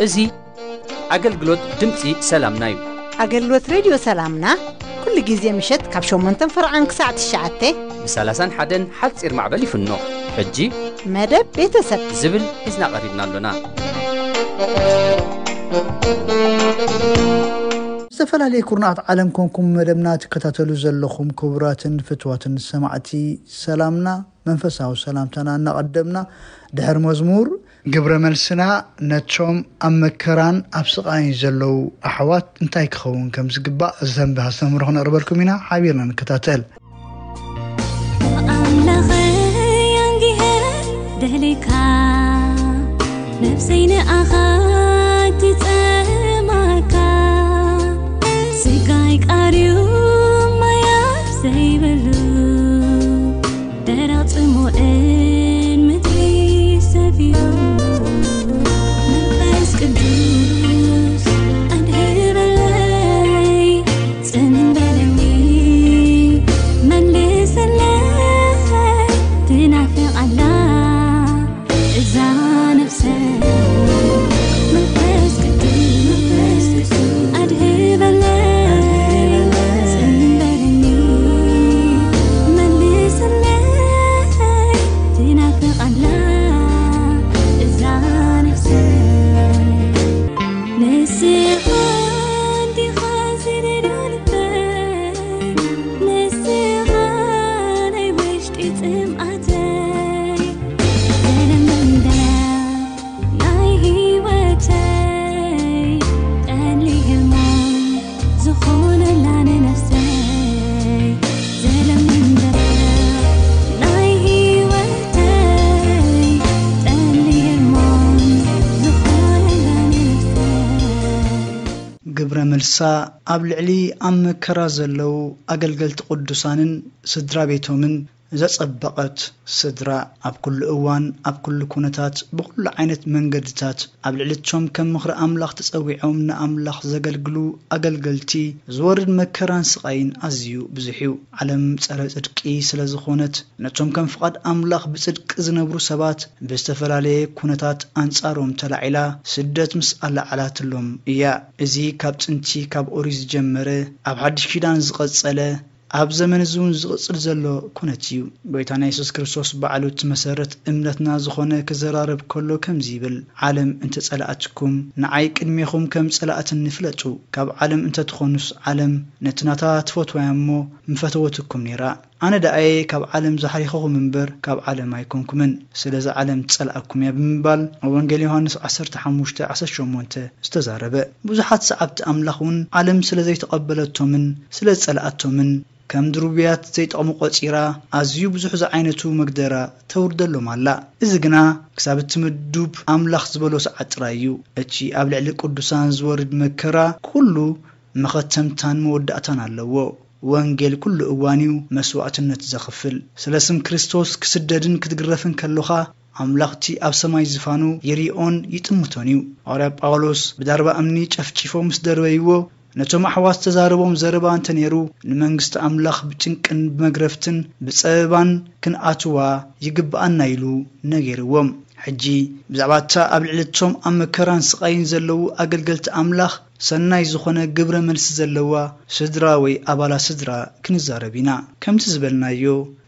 እዚ ኣገልግሎት ድምፂ ሰላምና እዩ። ኣገልግሎት ሬድዮ ሰላምና ኩሉ ግዜ ምሸት ካብ ሸሞንተን ፈርዓን ክሳዕ ትሽዓተ ብ ሰላሳን ሓደን ሓፂር ማዕበል ይፍኖ። ሕጂ መደብ ቤተሰብ ዝብል ሒዝና ቀሪብና ኣሎና። ዝተፈላለየ ኩርናዓት ዓለም ኮንኩም መደብና ትከታተሉ ዘለኹም ክቡራትን ፍትዋትን ሰማዕቲ ሰላምና መንፈሳዊ ሰላምታና እናቐደምና ድሕሪ መዝሙር ግብረ መልስና ነቶም ኣብ መከራን ኣብ ስቓይን ዘለዉ ኣሕዋት እንታይ ክኸውን ከም ዝግባእ ዘንቢ ኣስተምህሮ ክነቕርበልኩም ኢና። ሓቢርና ንከታተል። ኣምላኸይ ኣንጊሀ ደሌካ፣ ነፍሰይ ንኣኻ ትጸማካ። ስጋይ ቃርዩ ማያት ዘይብሉ፣ ደረቕ ጽሙእን ምድሪ ሰፊሩ። መንፈስ ቅዱስ ኣድህበለይ፣ ጽንበለኒ፣ መልሰለይ፣ ትናፍቕ ኣላ እዛ ነፍሰይ። መንፈስ ቅዱስ ኣድህበለይ፣ ጽንበለኒ፣ መልሰለይ፣ ትናፍቕ ኣላ እዛ ነፍሰይ። ንስኻ እንዲኻ ዝደልዮ ልበይ፣ ንስኻ ናይ ውሽጢ ጽምኣተይ፣ ዘለመንደር ናይ ህይወተይ፣ ጠሊ ህልሞም ዝኾነላ ንነፍሰይ፣ ዘለመንደር ናይ ህይወተይ፣ ጠሊ ህልሞም ዝኾነላ ንነፍሰይ። ግብረ መልሳ ኣብ ልዕሊ ኣብ መከራ ዘለዉ ኣገልገልቲ ቅዱሳንን ስድራ ቤቶምን ዘጸበቐት ስድራ፣ ኣብ ኩሉ እዋን፣ ኣብ ኩሉ ኩነታት፣ ብኹሉ ዓይነት መንገድታት ኣብ ልዕሊ እቶም ከም ምኽሪ ኣምላኽ ተጸዊዖም ንኣምላኽ ዘገልግሉ ኣገልገልቲ ዝወርድ መከራን ስቓይን ኣዝዩ ብዙሕ እዩ። ዓለም ጸረ ጽድቂ ስለ ዝኾነት፣ ነቶም ከም ፍቓድ ኣምላኽ ብጽድቂ ዝነብሩ ሰባት ብዝተፈላለየ ኩነታት ኣንጻሮም ተላዒላ ስደት ምስ ኣለዓላትሎም እያ። እዚ ካብ ጥንቲ ካብ ኦሪት ዝጀመረ፣ ኣብ ሓድሽ ኪዳን ዝቐጸለ፣ ኣብ ዘመን እዚ እውን ዝቕጽል ዘሎ ኩነት እዩ። ጎይታና የሱስ ክርስቶስ ባዕሉ እቲ መሰረት እምነትና ዝኾነ ክዘራረብ ከሎ ከምዚ ይብል፣ "ዓለም እንተጸላእትኩም ንዓይ ቅድሜኹም ከም ጸላእትኒ ፍለጡ። ካብ ዓለም እንተትኾኑስ ዓለም ነቲ ናታ ትፈትዋያ እሞ ምፈተወትኩም ነይራ። ኣነ ደኣየ ካብ ዓለም ዝሓሪኸኹም እምበር ካብ ዓለም ኣይኮንኩምን። ስለዚ ዓለም ትጸልኣኩም እያ" ብምባል ኣብ ወንጌል ዮሃንስ ዓሰርተ ሓሙሽተ ዓሰርተ ሸሞንተ ዝተዛረበ። ብዙሓት ሰዓብቲ ኣምላኽ እውን ዓለም ስለ ዘይተቐበለቶምን ስለ ዝጸልኣቶምን ከም ድሩብያት ዘይጠቕሙ ቆጺራ፣ ኣዝዩ ብዙሕ ዝዓይነቱ መግደራ ተውርደሎም ኣላ። እዚ ግና ክሳብ እቲ ምዱብ ኣምላኽ ዝበሎ ሰዓት ጥራይ እዩ። እቲ ኣብ ልዕሊ ቅዱሳን ዝወርድ መከራ ኩሉ መኸተምታን መወዳእታን ኣለዎ። ወንጌል ኩሉ እዋን እዩ መስዋዕትነት ዘኽፍል። ስለ ስም ክርስቶስ ክስደድን ክትግረፍን ከሎኻ፣ ኣምላኽቲ ኣብ ሰማይ ዝፋኑ ይሪኦን ይጥምቶን እዩ። ሃዋርያ ጳውሎስ ብዳርባ እምኒ ጨፍጪፎም ምስ ደርበይዎ፣ ነቶም ኣሕዋት ዝተዛረቦም ዘረባ እንተ ነይሩ፣ ንመንግስቲ ኣምላኽ ብጭንቅን ብመግረፍትን ብጸበባን ክንኣትዋ ይግብኣና ኢሉ ነጊርዎም። ሕጂ ብዛዕባ እታ ኣብ ልዕሊ እቶም ኣብ መከራን ስቓይን ዘለዉ ኣገልገልቲ ኣምላኽ ሰናይ ዝኾነ ግብረ መልሲ ዘለዋ ስድራ ወይ ኣባላት ስድራ ክንዛረብ ኢና። ከምቲ ዝበልናዮ፣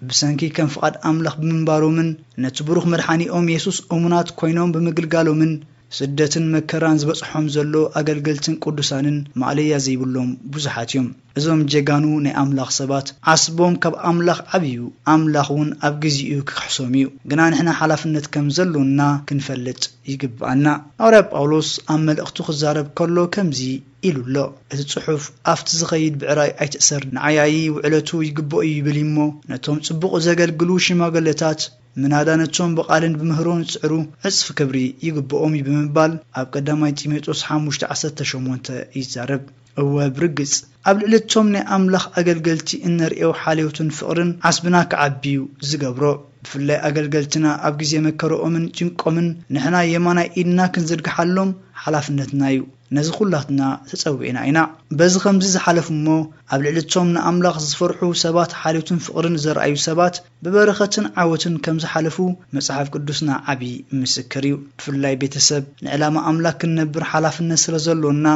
ብሰንኪ ከም ፍቓድ ኣምላኽ ብምንባሮምን ነቲ ብሩኽ መድሓኒኦም የሱስ እሙናት ኮይኖም ብምግልጋሎምን ስደትን መከራን ዝበጽሖም ዘሎ ኣገልገልትን ቅዱሳንን ማእለያ ዘይብሎም ብዙሓት እዮም። እዞም ጀጋኑ ናይ ኣምላኽ ሰባት ዓስቦም ካብ ኣምላኽ ዓብዩ፣ ኣምላኽ እውን ኣብ ግዚኡ ክክሕሶም እዩ። ግና ንሕና ሓላፍነት ከም ዘሎና ክንፈልጥ ይግብኣና። ሃዋርያ ጳውሎስ ኣብ መልእኽቱ ክዛረብ ከሎ ከምዚ ኢሉ ኣሎ፣ "እቲ ጽሑፍ ኣብቲ ዝኸይድ ብዕራይ ኣይትእሰር፣ ንዓያዪ ውዕለቱ ይግብኦ እዩ" ይብል እሞ፣ ነቶም ጽቡቕ ዘገልግሉ ሽማግለታት ምናዳ ነቶም ብቓልን ብምህሮን ዝጽዕሩ ዕጽፊ ክብሪ ይግብኦም እዩ ብምባል ኣብ ቀዳማይ ጢሞቴዎስ ሓሙሽተ ዓሰርተ ሸሞንተ ይዛረብ። እወ፣ ብርግጽ ኣብ ልዕሊ እቶም ናይ ኣምላኽ ኣገልገልቲ እነርእዮ ሓልዮትን ፍቕርን ዓስብና ክዓቢ እዩ ዝገብሮ። ብፍላይ ኣገልገልትና ኣብ ግዜ መከረኦምን ጭንቆምን ንሕና የማናይ ኢድና ክንዝርግሓሎም ሓላፍነትና እዩ። ነዚ ኩላትና ተጸዊዕና ኢና። በዚ ከምዚ ዝሓለፉ እሞ ኣብ ልዕሊ እቶም ንኣምላኽ ዝፈርሑ ሰባት ሓልዮትን ፍቕርን ዘርኣዩ ሰባት ብበረኸትን ዓወትን ከም ዝሓለፉ መጽሓፍ ቅዱስና ዓቢ ምስክር እዩ። ብፍላይ ቤተሰብ ንዕላማ ኣምላኽ ክንነብር ሓላፍነት ስለ ዘሎና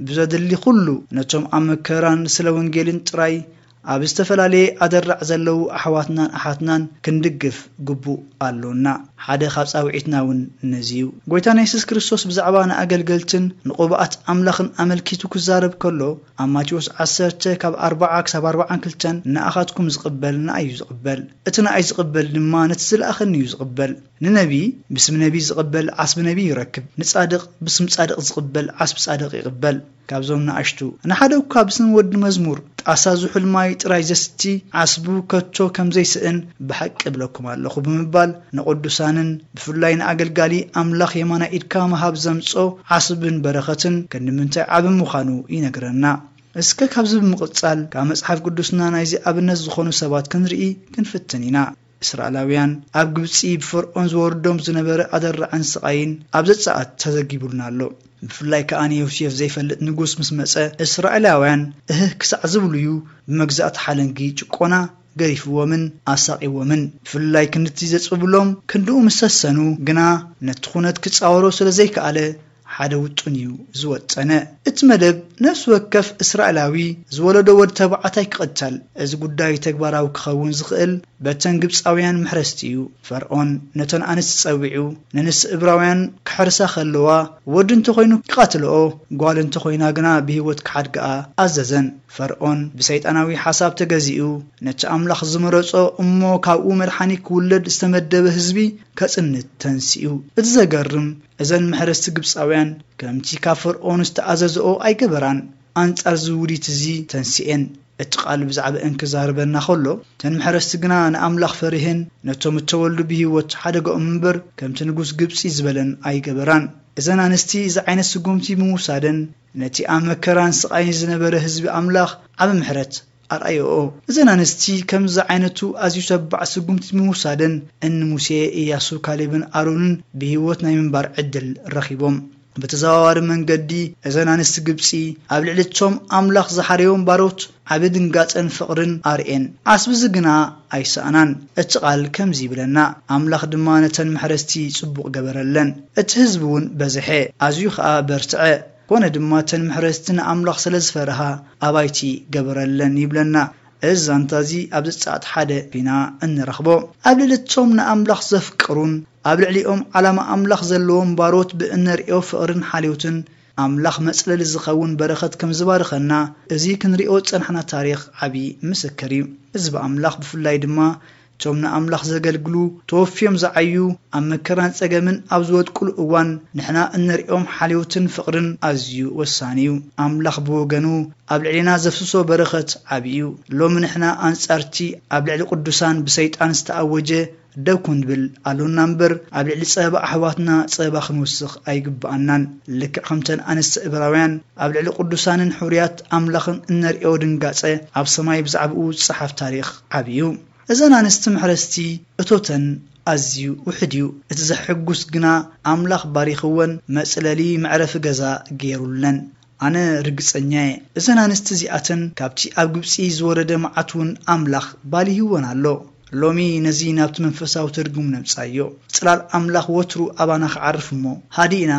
ብዘድሊ ኩሉ ነቶም ኣብ መከራን ስለ ወንጌልን ጥራይ ኣብ ዝተፈላለየ ኣደራዕ ዘለዉ ኣሕዋትናን ኣሓትናን ክንድግፍ ግቡእ ኣሎና። ሓደ ካብ ጻውዒትና እውን ነዚ እዩ። ጎይታና የሱስ ክርስቶስ ብዛዕባ ንኣገልገልትን ንቕቡኣት ኣምላኽን ኣመልኪቱ ክዛረብ ከሎ ኣብ ማቴዎስ ዓሰርተ ካብ ኣርብዓ ክሳብ ኣርብዓን ክልተን ንኣኻትኩም ዝቕበል ንኣይ እዩ ዝቕበል፣ እቲ ንኣይ ዝቕበል ድማ ነቲ ዝለኣኸኒ እዩ ዝቕበል። ንነቢ ብስም ነቢ ዝቕበል ዓስቢ ነቢ ይረክብ፣ ንጻድቕ ብስም ጻድቕ ዝቕበል ዓስቢ ጻድቕ ይቕበል። ካብዞም ንኣሽቱ ንሓደ እኳ ብስም ወዲ መዝሙር ጣሳ ዝሑል ማይ ጥራይ ዘስቲ ዓስቡ ከቶ ከም ዘይስእን ብሓቂ እብለኩም ኣለኹ ብምባል ንቕዱሳንን ብፍላይ ንኣገልጋሊ ኣምላኽ የማናይ ኢድካ ምሃብ ዘምጾ ዓስብን በረኸትን ክንዲ ምንታይ ዓቢ ምዃኑ ይነግረና። እስከ ካብዚ ብምቕጻል ካብ መጽሓፍ ቅዱስና ናይዚ ኣብነት ዝኾኑ ሰባት ክንርኢ ክንፍትን ኢና። እስራኤላውያን ኣብ ግብጺ ብፈርዖን ዝወርዶም ዝነበረ ኣደራዕን ስቓይን ኣብ ዘጸኣት ተዘጊቡልና ኣሎ። ብፍላይ ከኣ ንዮሴፍ ዘይፈልጥ ንጉስ ምስ መጸ እስራኤላውያን እህህ ክሳዕ ዝብሉ እዩ ብመግዛእቲ ሓለንጊ ጭቆና ገሪፍዎምን ኣሳቒዎምን። ብፍላይ ክንድቲ ዘጽብብሎም ክንድኡ ምስ ሰሰኑ ግና ነቲ ኩነት ክጻወሮ ስለ ዘይከኣለ ሓደ ውጡን እዩ ዝወጠነ። እቲ መደብ ነፍሲ ወከፍ እስራኤላዊ ዝወለዶ ወዲ ተባዕታይ ክቕተል። እዚ ጉዳይ ተግባራዊ ክኸውን ዝኽእል በተን ግብጻውያን መሕረስቲ እዩ። ፈርዖን ነተን ኣንስቲ ጸዊዑ ንንስ እብራውያን ክሕርሳ ከለዋ ወዲ እንተኾይኑ ክቐትልኦ ጓል እንተኾይና ግና ብህይወት ክሓድግኣ ኣዘዘን። ፈርዖን ብሰይጣናዊ ሓሳብ ተገዚኡ ነቲ ኣምላኽ ዝመረጾ እሞ ካብኡ መድሓኒ ክውለድ ዝተመደበ ህዝቢ ከጽንት ተንሲኡ። እቲ ዘገርም እዘን መሕረስቲ ግብጻውያን ከምቲ ካብ ፈርዖን ዝተኣዘዝኦ ኣይገበራን። ኣንጻር እዚ ውዲት እዚ ተንሲኤን። እቲ ቃል ብዛዕባእን ክዛረበና ከሎ እተን መሕረስቲ ግና ንኣምላኽ ፈሪህን ነቶም እተወልዱ ብህይወት ሓደገኦም እምበር ከምቲ ንጉስ ግብጺ ዝበለን ኣይገበራን። እዘን ኣንስቲ እዚ ዓይነት ስጉምቲ ብምውሳደን ነቲ ኣብ መከራን ስቓይን ዝነበረ ህዝቢ ኣምላኽ ዓቢ ምሕረት ኣርኣዮኦ። እዘን ኣንስቲ ከምዚ ዓይነቱ ኣዝዩ ተባዕ ስጉምቲ ብምውሳደን እኒ ሙሴ፣ ኢያሱ፣ ካሌብን ኣሮንን ብህይወት ናይ ምንባር ዕድል ረኺቦም። ብተዘዋዋሪ መንገዲ እዘን ኣንስቲ ግብጺ ኣብ ልዕሊ እቶም ኣምላኽ ዝሓረዮም ባሮት ዓቢ ድንጋጸን ፍቕርን ኣርእየን። ዓስቢ እዚ ግና ኣይሰኣናን። እቲ ቃል ከምዚ ይብለና፣ ኣምላኽ ድማ ነተን መሕረስቲ ጽቡቕ ገበረለን። እቲ ህዝቢ እውን በዝሐ፣ ኣዝዩ ኸኣ በርትዐ። ኮነ ድማ እተን መሕረስቲ ንኣምላኽ ስለ ዝፈርሃ ኣባይቲ ገበረለን ይብለና። እዚ ዛንታ እዚ ኣብ ዘጸኣት ሓደ ኢና እንረኽቦ። ኣብ ልዕሊ እቶም ንኣምላኽ ዘፍቅሩን ኣብ ልዕሊኦም ዓላማ ኣምላኽ ዘለዎም ባሮት ብእነርእዮ ፍቕርን ሓልዮትን ኣምላኽ መጽለሊ ዝኸውን በረኸት ከም ዝባርኸና እዚ ክንርእዮ ዝጸናሕና ታሪኽ ዓቢ ምስክር እዩ። ህዝቢ ኣምላኽ ብፍላይ ድማ እቶም ንኣምላኽ ዘገልግሉ ተወፍዮም ዝዓዩ ኣብ መከራን ጸገምን ኣብ ዝወድቁሉ እዋን ንሕና እነርእዮም ሓልዮትን ፍቕርን ኣዝዩ ወሳኒ እዩ። ኣምላኽ ብወገኑ ኣብ ልዕሌና ዘፍስሶ በረኸት ዓቢ እዩ። ሎሚ ንሕና ኣንጻርቲ ኣብ ልዕሊ ቅዱሳን ብሰይጣን ዝተኣወጀ ደው ክንብል ኣሎና እምበር ኣብ ልዕሊ ጸበባ ኣሕዋትና ጸበባ ክንወስኽ ኣይግብኣናን። ልክዕ ከምተን ኣንስቲ እብራውያን ኣብ ልዕሊ ቅዱሳንን ሕሩያት ኣምላኽን እነርእዮ ድንጋጸ ኣብ ሰማይ ብዛዕባኡ ዝጸሓፍ ታሪኽ ዓቢ እዩ። እዘን ኣንስቲ መሕረስቲ እቶተን ኣዝዩ ውሕድ እዩ። እቲ ዘሕጉስ ግና ኣምላኽ ባሪኽወን መጽለሊ መዕረፊ ገዛ ገይሩለን። ኣነ ርግጸኛ እየ፣ እዘን ኣንስቲ እዚኣተን ካብቲ ኣብ ግብጺ ዝወረደ መዓት እውን ኣምላኽ ባሊህወን ኣሎ። ሎሚ ነዚ ናብቲ መንፈሳዊ ትርጉም ነምጻዮ። ጽላል ኣምላኽ ወትሩ ኣባና ክዓርፍ እሞ፣ ሃዲእና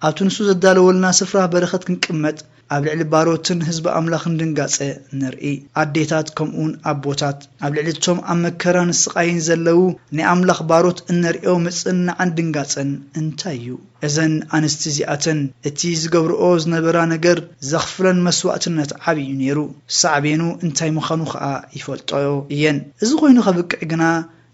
ኣብቲ ንሱ ዘዳለወልና ስፍራ በረኸት ክንቅመጥ፣ ኣብ ልዕሊ ባሮትን ህዝቢ ኣምላኽን ድንጋጸ ንርኢ። ኣዴታት ከምኡውን ኣቦታት ኣብ ልዕሊ እቶም ኣብ መከራን ስቓይን ዘለዉ ናይ ኣምላኽ ባሮት እነርእዮ ምጽንናዕን ድንጋጸን እንታይ እዩ? እዘን ኣንስቲ እዚኣተን እቲ ዝገብርኦ ዝነበራ ነገር ዘኽፍለን መስዋእትነት ዓቢ እዩ ነይሩ። ሳዕቤኑ እንታይ ምዃኑ ኸኣ ይፈልጦ እየን። እዚ ኾይኑ ከብቅዕ ግና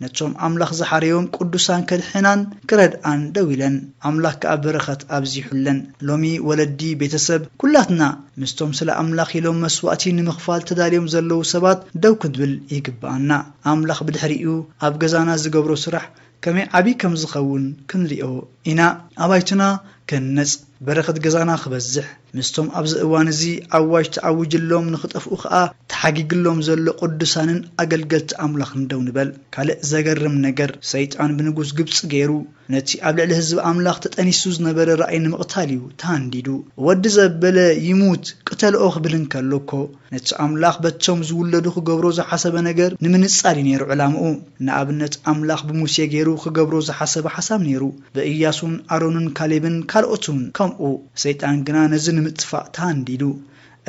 ነቶም ኣምላኽ ዝሓረዮም ቅዱሳን ከድሕናን ክረድኣን ደው ኢለን። ኣምላኽ ከኣ በረኸት ኣብዚሑለን። ሎሚ ወለዲ፣ ቤተሰብ፣ ኩላትና ምስቶም ስለ ኣምላኽ ኢሎም መስዋእቲ ንምኽፋል ተዳልዮም ዘለዉ ሰባት ደው ክንብል ይግብኣና። ኣምላኽ ብድሕሪኡ ኣብ ገዛና ዝገብሮ ስራሕ ከመይ ዓቢ ከም ዝኸውን ክንሪኦ ኢና። ኣባይትና ክንነጽ፣ በረኸት ገዛና ክበዝሕ፣ ምስቶም ኣብዚ እዋን እዚ ኣዋጅ ተኣዊጅሎም ንኽጠፍኡ ኸኣ ተሓጊግሎም ዘሎ ቅዱሳንን ኣገልገልቲ ኣምላኽን ደው ንበል። ካልእ ዘገርም ነገር፣ ሰይጣን ብንጉስ ግብጺ ገይሩ ነቲ ኣብ ልዕሊ ህዝቢ ኣምላኽ ተጠኒሱ ዝነበረ ራእይ ንምቕታል እዩ ተሃንዲዱ። "ወዲ ዘበለ ይሙት፣ ቅተልኦ" ክብል እንከሎ እኮ፣ ነቲ ኣምላኽ በቶም ዝውለዱ ክገብሮ ዝሓሰበ ነገር ንምንጻል እዩ ነይሩ ዕላምኡ። ንኣብነት፣ ኣምላኽ ብሙሴ ገይሩ ክገብሮ ዝሓሰበ ሓሳብ ነይሩ። ብእያሱን ኣሮንን ካሌብን ካልኦትን ከምኡ። ሰይጣን ግና ነዚ ንምጥፋእ ተሃንዲዱ።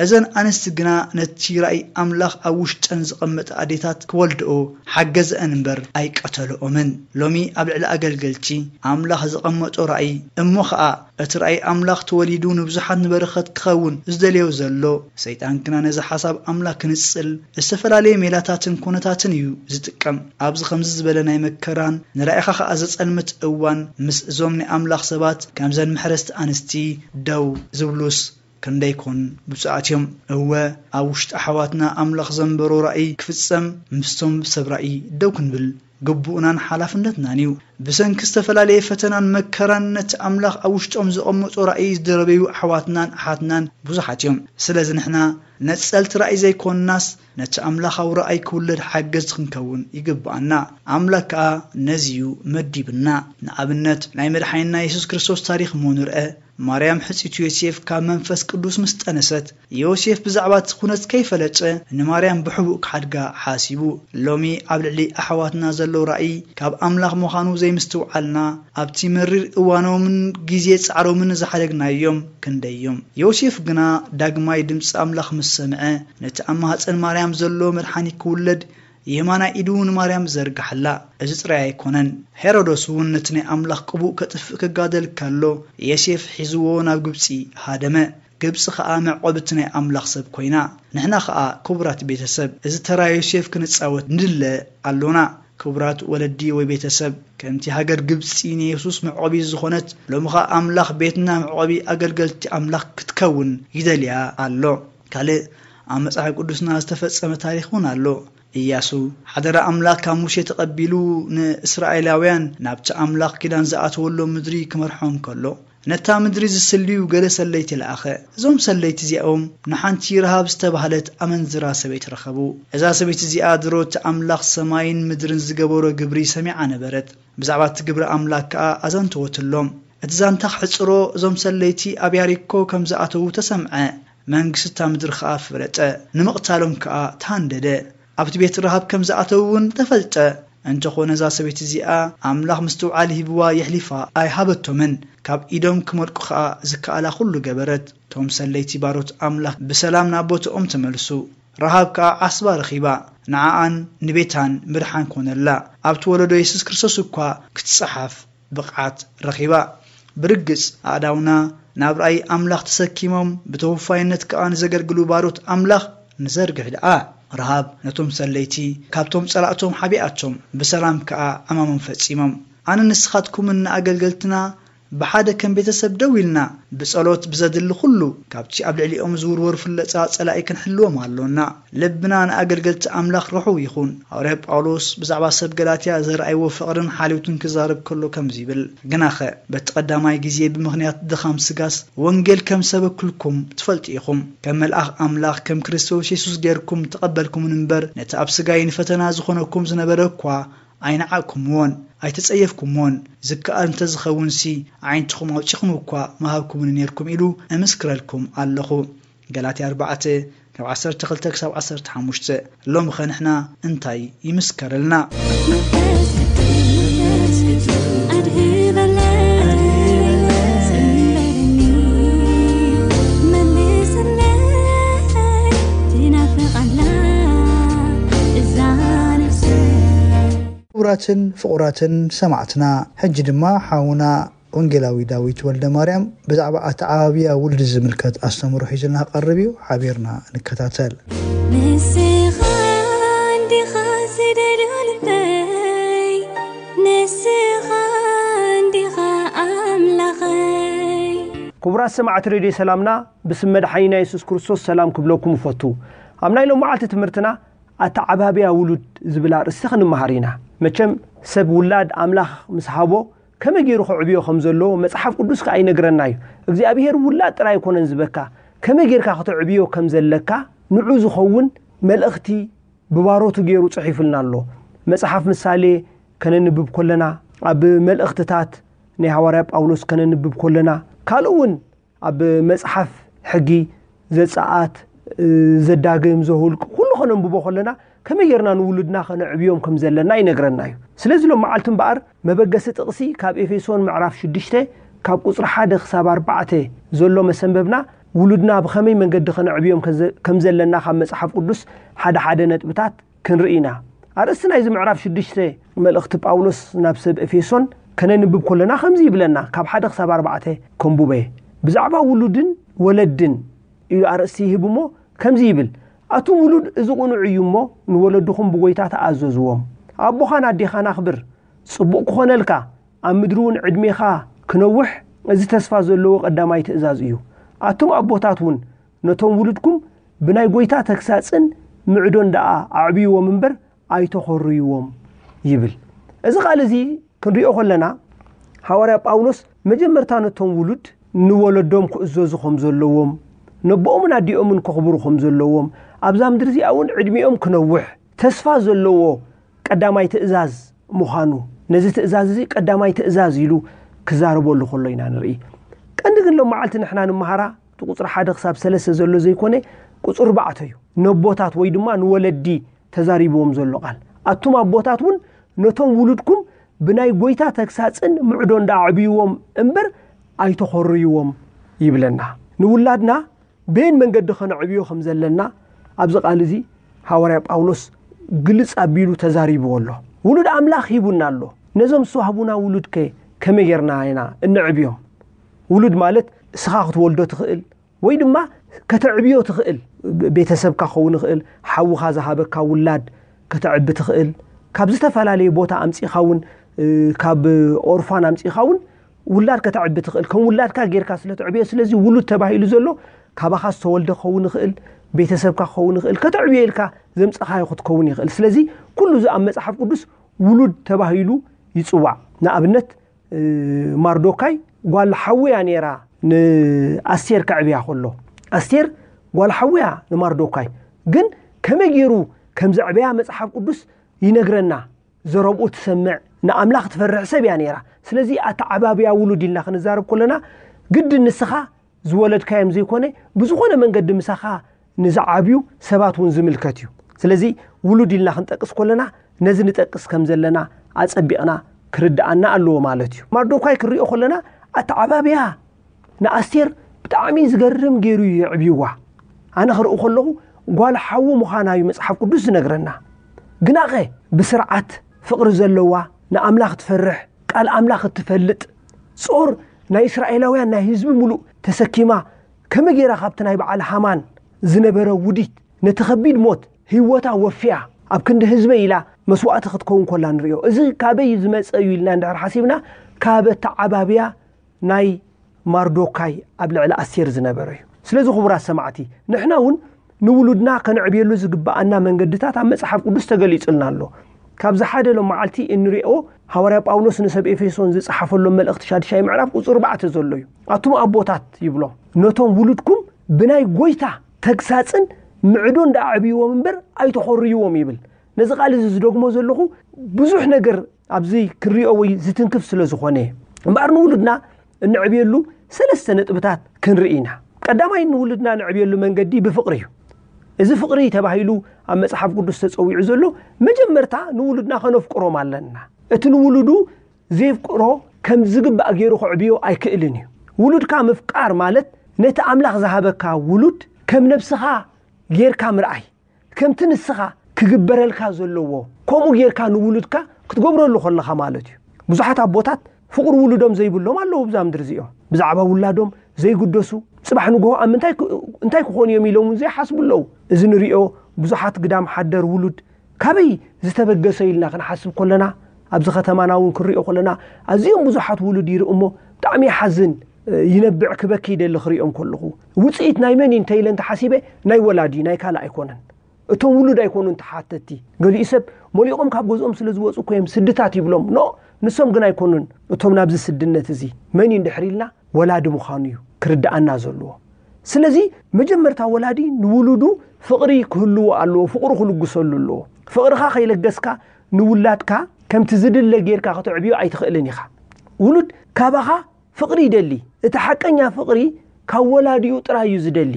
እዘን ኣንስቲ ግና ነቲ ራእይ ኣምላኽ ኣብ ውሽጠን ዘቐመጠ ኣዴታት ክወልድኦ ሓገዘአን እምበር ኣይቀተልኦምን። ሎሚ ኣብ ልዕሊ ኣገልገልቲ ኣምላኽ ዘቐመጦ ራእይ እሞ ኸኣ እቲ ራእይ ኣምላኽ ተወሊዱ ንብዙሓት ንበረኸት ክኸውን ዝደልዮ ዘሎ፣ ሰይጣን ግና ነዚ ሓሳብ ኣምላኽ ክንጽል ዝተፈላለየ ሜላታትን ኩነታትን እዩ ዝጥቀም። ኣብዚ ከምዚ ዝበለ ናይ መከራን ንራእይኻ ኸኣ ዘጸልምት እዋን፣ ምስ እዞም ናይ ኣምላኽ ሰባት ከምዘን መሕረስቲ ኣንስቲ ደው ዝብሉስ ክንደይ ኮን ብፁዓት እዮም። እወ፣ ኣብ ውሽጢ ኣሕዋትና ኣምላኽ ዘንበሮ ራእይ ክፍጸም ምስቶም ሰብ ራእይ ደው ክንብል ግቡእናን ሓላፍነትናን እዩ። ብሰንኪ ዝተፈላለየ ፈተናን መከራን ነቲ ኣምላኽ ኣብ ውሽጦም ዘቐመጦ ራእይ ዝደረበዩ ኣሕዋትናን ኣሓትናን ብዙሓት እዮም። ስለዚ ንሕና ነጸልቲ ራእይ ዘይኮንናስ፣ ነቲ ኣምላኻዊ ራእይ ክውለድ ሓገዝቲ ክንከውን ይግብኣና። ኣምላኽ ከኣ ነዚ እዩ መዲብና። ንኣብነት፣ ናይ መድሓኒና የሱስ ክርስቶስ ታሪኽ እሞ ንርአ። ማርያም ሕጽይቱ ዮሴፍ ካብ መንፈስ ቅዱስ ምስ ጠነሰት፣ ዮሴፍ ብዛዕባ እቲ ኩነት ከይፈለጠ ንማርያም ብሕቡእ ክሓድጋ ሓሲቡ። ሎሚ ኣብ ልዕሊ ኣሕዋትና ዘሎ ራእይ ካብ ኣምላኽ ምዃኑ ዘይምስትውዓልና፣ ኣብቲ መሪር እዋኖምን ግዜ ጻዕሮምን ዝሓደግናዮም ክንደይ እዮም። ዮሴፍ ግና ዳግማይ ድምጺ ኣምላኽ ምስ ሰምዐ፣ ነቲ ኣብ ማህጸን ማርያም ዘሎ መድሓኒ ክውለድ የማናይ ኢዱ ንማርያም ዘርግሓላ። እዚ ጥራይ ኣይኮነን። ሄሮዶስ እውን ነቲ ናይ ኣምላኽ ቅቡእ ከጥፍእ ክጋደል ከሎ፣ ዮሴፍ ሒዝዎ ናብ ግብጺ ሃደመ። ግብጺ ኸኣ መዕቆቢት ናይ ኣምላኽ ሰብ ኮይና። ንሕና ኸኣ ክቡራት ቤተሰብ፣ እዚ ተራ ዮሴፍ ክንጻወት ንድለ ኣሎና። ክቡራት ወለዲ ወይ ቤተሰብ፣ ከምቲ ሃገር ግብጺ ንየሱስ መዕቆቢ ዝኾነት፣ ሎሚ ኸኣ ኣምላኽ ቤትና መዕቆቢ ኣገልገልቲ ኣምላኽ ክትከውን ይደልያ ኣሎ። ካልእ ኣብ መጽሓፍ ቅዱስና ዝተፈጸመ ታሪኽ እውን ኣሎ። ኢያሱ ሓደራ ኣምላኽ ካብ ሙሴ ተቐቢሉ ንእስራኤላውያን ናብቲ ኣምላኽ ኪዳን ዝኣተወሎም ምድሪ ክመርሖም ከሎ፣ ነታ ምድሪ ዝስልዩ ገለ ሰለይቲ ለኣኸ። እዞም ሰለይቲ እዚኦም ንሓንቲ ረሃብ ዝተባህለት ኣመንዝራ ሰበይቲ ረኸቡ። እዛ ሰበይቲ እዚኣ ድሮ እቲ ኣምላኽ ሰማይን ምድርን ዝገበሮ ግብሪ ሰሚዓ ነበረት። ብዛዕባ እቲ ግብሪ ኣምላኽ ከኣ ኣዘንተወትሎም። እቲ ዛንታ ክሕጽሮ፣ እዞም ሰለይቲ ኣብ ያሪኮ ከም ዝኣተዉ ተሰምዐ። መንግስቲ እታ ምድሪ ኸኣ ፈለጠ። ንምቕታሎም ከኣ ተሃንደደ። ኣብቲ ቤት ረሃብ ከም ዝኣተዉ እውን ተፈልጠ። እንተኾነ እዛ ሰበይቲ እዚኣ ኣምላኽ ምስትውዓል ሂብዋ የሕሊፋ ኣይሃበቶምን። ካብ ኢዶም ክመልቁ ኸኣ ዝከኣላ ኩሉ ገበረት። እቶም ሰለይቲ ባሮት ኣምላኽ ብሰላም ናብ ቦትኦም ተመልሱ። ረሃብ ከኣ ዓስባ ረኺባ። ንዓኣን ንቤታን ምድሓን ኮነላ። ኣብቲ ወለዶ የሱስ ክርስቶስ እኳ ክትጸሓፍ ብቕዓት ረኺባ። ብርግጽ ኣእዳውና ናብ ራእይ ኣምላኽ ተሰኪሞም ብተወፋይነት ከኣ ንዘገልግሉ ባሮት ኣምላኽ ንዘርግሕ ደኣ። ረሃብ ነቶም ሰለይቲ ካብቶም ጸላእቶም ሓቢኣቶም፣ ብሰላም ከኣ ዕማሞም ፈጺሞም። ኣነ ንስኻትኩምን ንኣገልገልትና ብሓደ ከም ቤተሰብ ደው ኢልና፣ ብጸሎት ብዘድሊ ኩሉ ካብቲ ኣብ ልዕሊኦም ዝውርወር ፍለጻ ጸላኢ ክንሕልዎም ኣሎና። ልብና ንኣገልገልቲ ኣምላኽ ርሑው ይኹን። ሃዋርያ ጳውሎስ ብዛዕባ ሰብ ገላትያ ዘርኣይዎ ፍቕርን ሓልዮትን ክዛረብ ከሎ ከምዚ ይብል፣ ግናኸ በቲ ቀዳማይ ግዜ ብምኽንያት ድኻም ስጋስ ወንጌል ከም ሰበክልኩም ትፈልጡ ኢኹም። ከም መልኣኽ ኣምላኽ ከም ክርስቶስ የሱስ ጌርኩም ተቐበልኩምን እምበር፣ ነቲ ኣብ ስጋይ ንፈተና ዝኾነኩም ዝነበረ እኳ ኣይነዓቕኩምዎን ኣይተጸየፍኩምዎን። ዝከኣል እንተ ዝኸውንሲ፣ ኣዒንትኹም ኣውጺኹም እኳ ምሃብኩምኒ ኔርኩም ኢሉ እምስክረልኩም ኣለኹ። ገላትያ ኣርባዕተ ካብ ዓሰርተ ክልተ ክሳብ ዓሰርተ ሓሙሽተ። ሎምኸ ንሕና እንታይ ይምስከረልና? መንፈስ ቅዱስ ኣድህበለይ፣ ዘምረኒ፣ መልሰለይ፣ ትናፍቕ ኣላ እዛ ነፍሰይ። ክቡራትን ፍቑራትን ሰማዕትና፣ ሕጂ ድማ ሓውና ወንጌላዊ ዳዊት ወልደ ማርያም ብዛዕባ ኣተዓባብያ ውሉድ ዝምልከት ኣስተምህሮ ሒዙልና ክቐርብ እዩ። ሓቢርና ንከታተል። ንስኻ እንዲኻ ዝደልዮ ልበይ፣ ንስኻ እንዲኻ ኣምላኸይ። ክቡራት ሰማዕቲ ሬድዮ ሰላምና፣ ብስም መድሓኒና የሱስ ክርስቶስ ሰላም ክብለኩም እፈቱ። ኣብ ናይ ሎማዓልቲ ትምህርትና ኣተዓባብያ ውሉድ ዝብል ኣርእስቲ ክንመሃር ኢና። መቸም ሰብ ውላድ ኣምላኽ ምስ ሃቦ ከመይ ገይሩ ከዕብዮ ከም ዘለዎ መጽሓፍ ቅዱስ ከኣ ይነግረና እዩ። እግዚኣብሔር ውላድ ጥራይ ኣይኮነን ዝበካ፣ ከመይ ጌርካ ከተዕብዮ ከም ዘለካ ንዑ ዝኸውን መልእኽቲ ብባሮቱ ገይሩ ጽሒፉልና ኣሎ። መጽሓፍ ምሳሌ ከነንብብ ከለና፣ ኣብ መልእኽትታት ናይ ሃዋርያ ጳውሎስ ከነንብብ ከለና፣ ካልእ እውን ኣብ መጽሓፍ ሕጊ ዘጸኣት፣ ዘዳግም፣ ዘሁልቅ ኩሉ ከነንብቦ ከለና ከመይ ጌርና ንውሉድና ከነዕብዮም ከም ዘለና ይነግረና እዩ። ስለዚ ሎም መዓልቲ እምበኣር መበገሲ ጥቕሲ ካብ ኤፌሶን ምዕራፍ ሽዱሽተ ካብ ቁጽሪ ሓደ ክሳብ ኣርባዕተ ዘሎ መሰንበብና ውሉድና ብኸመይ መንገዲ ከነዕብዮም ከዘ-፣ ከም ዘለና ካብ መጽሓፍ ቅዱስ ሓደ ሓደ ነጥብታት ክንርኢ ኢና። ኣርእስቲ ናይዚ ምዕራፍ ሽዱሽተ መልእኽቲ ጳውሎስ ናብ ሰብ ኤፌሶን ከነንብብ ከለና ከምዚ ይብለና፣ ካብ ሓደ ክሳብ ኣርባዕተ ከንቡበ። ብዛዕባ ውሉድን ወለድን ኢሉ ኣርእስቲ ይህብ እሞ ከምዚ ይብል፣ ኣቱም ውሉድ እዚ ቅኑዕ እዩ እሞ ንወለድኹም ብጎይታ ተኣዘዝዎም። ኣቦኻን ኣዴኻን ኣኽብር፣ ጽቡቕ ክኾነልካ ኣብ ምድሪ እውን ዕድሜኻ ክነውሕ እዚ ተስፋ ዘለዎ ቀዳማይ ትእዛዝ እዩ። ኣቱም ኣቦታት እውን ነቶም ውሉድኩም ብናይ ጎይታ ተግሳጽን ምዕዶን ደኣ ኣዕብይዎም እምበር ኣይተኾርይዎም ይብል። እዚ ቃል እዚ ክንሪኦ ከለና ሃዋርያ ጳውሎስ መጀመርታ ነቶም ውሉድ ንወለዶም ክእዘዙ ከም ዘለዎም፣ ነቦኦምን ኣዲኦምን ከኽብሩ ከም ዘለዎም፣ ኣብዛ ምድሪ እዚኣ እውን ዕድሚኦም ክነውሕ ተስፋ ዘለዎ ቀዳማይ ትእዛዝ ምዃኑ፣ ነዚ ትእዛዝ እዚ ቀዳማይ ትእዛዝ ኢሉ ክዛረበሉ ከሎ ኢና ንርኢ። ቀንዲ ግን ሎም መዓልቲ ንሕና ንምሃራ እቲ ቁጽሪ ሓደ ክሳብ ሰለስተ ዘሎ ዘይኮነ ቁጽሪ ኣርባዕተ እዩ። ነቦታት ወይ ድማ ንወለዲ ተዛሪብዎም ዘሎ ቃል። ኣቱም ኣቦታት እውን ነቶም ውሉድኩም ብናይ ጎይታ ተግሳጽን ምዕዶን ደኣ ኣዕብይዎም እምበር ኣይተኾርይዎም ይብለና። ንውላድና በየን መንገዲ ከነዕብዮ ከም ዘለና ኣብዚ ቃል እዚ ሃዋርያ ጳውሎስ ግልጽ ኣቢሉ ተዛሪብዎ ኣሎ። ውሉድ ኣምላኽ ሂቡና ኣሎ። ነዞም ዝተዋህቡና ውሉድከ ከመይ ጌርና ኢና እነዕብዮም? ውሉድ ማለት እስኻ ክትወልዶ ትኽእል ወይ ድማ ከተዕብዮ ትኽእል። ቤተሰብካ ክኸውን ይኽእል፣ ሓውኻ ዝሃበካ ውላድ ከተዕቢ ትኽእል። ካብ ዝተፈላለየ ቦታ ኣምጺኻ እውን፣ እ፣ ካብ ኦርፋን ኣምጺኻ እውን ውላድ ከተዕቢ ትኽእል። ከም ውላድካ ጌርካ ስለ ተዕብዮ፣ ስለዚ ውሉድ ተባሂሉ ዘሎ ካባኻ ዝተወልደ ክኸውን ይኽእል፣ ቤተሰብካ ክኸውን ይኽእል፣ ከተዕብዮ ኢልካ ዘምጻኻዮ ክትከውን ይኽእል። ስለዚ ኩሉ እዚ ኣብ መጽሓፍ ቅዱስ ውሉድ ተባሂሉ ይጽዋዕ። ንኣብነት፣ እ፣ ማርዶካይ ጓል ሓውያ ነይራ ንኣስቴር ከዕብያ ከሎ። ኣስቴር ጓል ሓውያ ንማርዶካይ። ግን ከመይ ገይሩ ከም ዘዕበያ መጽሓፍ ቅዱስ ይነግረና። ዘረብኡ ትሰምዕ፣ ንኣምላኽ ትፈርሕ ሰብ እያ ነይራ። ስለዚ ኣተዓባብያ ውሉድ ኢልና ክንዛረብ ከለና ግድን ንስኻ ዝወለድካዮም ዘይኮነ ብዝኾነ መንገዲ ምሳኻ ንዝዓብዩ ሰባት እውን ዝምልከት እዩ። ስለዚ ውሉድ ኢልና ክንጠቅስ ከለና ነዚ ንጠቅስ ከም ዘለና ኣጸቢቕና ክርድኣና ኣለዎ ማለት እዩ። ማርዶካይ ክንሪኦ ከለና ኣተዓባብያ ንኣስቴር ብጣዕሚ ዝገርም ገይሩ እዩ የዕብይዋ። ኣነ ክርኢ ከለኹ ጓል ሓዉ ምዃና እዩ መጽሓፍ ቅዱስ ዝነግረና። ግናኸ ብስርዓት ፍቕሪ ዘለዋ፣ ንኣምላኽ ትፈርሕ፣ ቃል ኣምላኽ እትፈልጥ፣ ጾር ናይ እስራኤላውያን ናይ ህዝቢ ምሉእ ተሰኪማ፣ ከመይ ገይራ ካብቲ ናይ በዓል ሃማን ዝነበረ ውዲት ነቲ ከቢድ ሞት ህይወታ ወፊያ ኣብ ክንዲ ህዝበይ ኢላ መስዋእቲ ክትከውን ከላ ንርእዮ። እዚ ካበይ ዝመጸ እዩ ኢልና እንድሕር ሓሲብና፣ ካብ ኣተዓባብያ ናይ ማርዶካይ ኣብ ልዕሊ ኣስቴር ዝነበረ እዩ። ስለዚ ክቡራት ሰማዕቲ፣ ንሕና እውን ንውሉድና ከነዕብየሉ ዝግብኣና መንገድታት ኣብ መጽሓፍ ቅዱስ ተገሊጹልና ኣሎ። ካብዚ ሓደ ሎም መዓልቲ እንሪኦ ሃዋርያ ጳውሎስ ንሰብ ኤፌሶን ዝጸሓፈሎም መልእኽቲ ሻድሻይ ምዕራፍ ቁጽሪ ኣርባዕተ ዘሎ እዩ። ኣቱም ኣቦታት ይብሎም፣ ነቶም ውሉድኩም ብናይ ጎይታ ተግሳጽን ምዕዶን ደኣ ኣዕብይዎም እምበር ኣይተኾርይዎም ይብል። ነዚ ቃል እዚ ዝደግሞ ዘለኹ ብዙሕ ነገር ኣብዚ ክሪኦ ወይ ዝትንክፍ ስለ ዝኾነ፣ እምበኣር ንውሉድና እንዕብየሉ ሰለስተ ነጥብታት ክንርኢ ኢና። ቀዳማይ ንውሉድና ንዕብየሉ መንገዲ ብፍቕሪ እዩ። እዚ ፍቕሪ ተባሂሉ ኣብ መጽሓፍ ቅዱስ ተጸዊዑ ዘሎ መጀመርታ ንውሉድና ከነፍቅሮም ኣለና። እቲ ንውሉዱ ዘየፍቅሮ ከም ዝግባእ ገይሩ ከዕብዮ ኣይክእልን እዩ። ውሉድካ ምፍቃር ማለት ነቲ ኣምላኽ ዝሃበካ ውሉድ ከም ነብስኻ ጌርካ ምርኣይ፣ ከምቲ ንስኻ ክግበረልካ ዘለዎ ከምኡ ጌርካ ንውሉድካ ክትገብረሉ ከለኻ ማለት እዩ። ብዙሓት ኣቦታት ፍቕሪ ውሉዶም ዘይብሎም ኣለዉ። ብዛ ምድሪ እዚኦም ብዛዕባ ውላዶም ዘይግደሱ፣ ጽባሕ ንግሆ ኣብ ምንታይ ክ-፣ እንታይ ክኾኑ እዮም ኢሎም እውን ዘይሓስቡ ኣለዉ። እዚ ንሪኦ ብዙሓት ግዳም ሓደር ውሉድ ካበይ ዝተበገሰ ኢልና ክንሓስብ ከለና፣ ኣብዚ ከተማና እውን ክንሪኦ ከለና ኣዝዮም ብዙሓት ውሉድ ይርኢ እሞ ብጣዕሚ ይሓዝን፣ ይነብዕ፣ ክበኪ ይደሊ ክሪኦም ከለኹ። ውጽኢት ናይ መን እዩ እንተኢለ እንተሓሲበ ናይ ወላዲ ናይ ካልእ ኣይኮነን። እቶም ውሉድ ኣይኮኑን ተሓተቲ። ገሊኡ ሰብ ሞሊቖም ካብ ገዝኦም ስለ ዝወጹ እኮ እዮም ስድታት ይብሎም። ኖ፣ ንሶም ግን ኣይኮኑን። እቶም ናብዚ ስድነት እዚ መን እዩ እንድሕር ኢልና፣ ወላዲ ምዃኑ እዩ ክርድኣና ዘለዎ። ስለዚ መጀመርታ ወላዲ ንውሉዱ ፍቕሪ ክህልዎ ኣለዎ፣ ፍቕሩ ክልግሰሉ ኣለዎ። ፍቕርኻ ከይለገስካ ንውላድካ ከምቲ ዝድለ ጌርካ ከተዕብዮ ኣይትኽእልን ኢኻ። ውሉድ ካባኻ ፍቕሪ ይደሊ። እቲ ሓቀኛ ፍቕሪ ካብ ወላዲኡ ጥራይ እዩ ዝደሊ።